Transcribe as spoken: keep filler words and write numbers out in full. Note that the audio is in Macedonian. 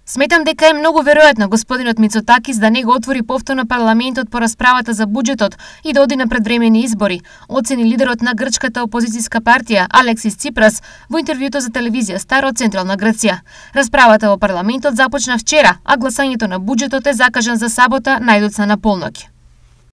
Сметам дека е многу веројатно господинот Мицотакис да не го отвори повторно парламентот по расправата за буџетот и да оди на предвремени избори, оцени лидерот на грчката опозицијска партија Алексис Ципрас во интервјуто за телевизија Стар од Централна Грција. Расправата во парламентот започна вчера, а гласањето на буџетот е закажан за сабота најдоцна на полноќ.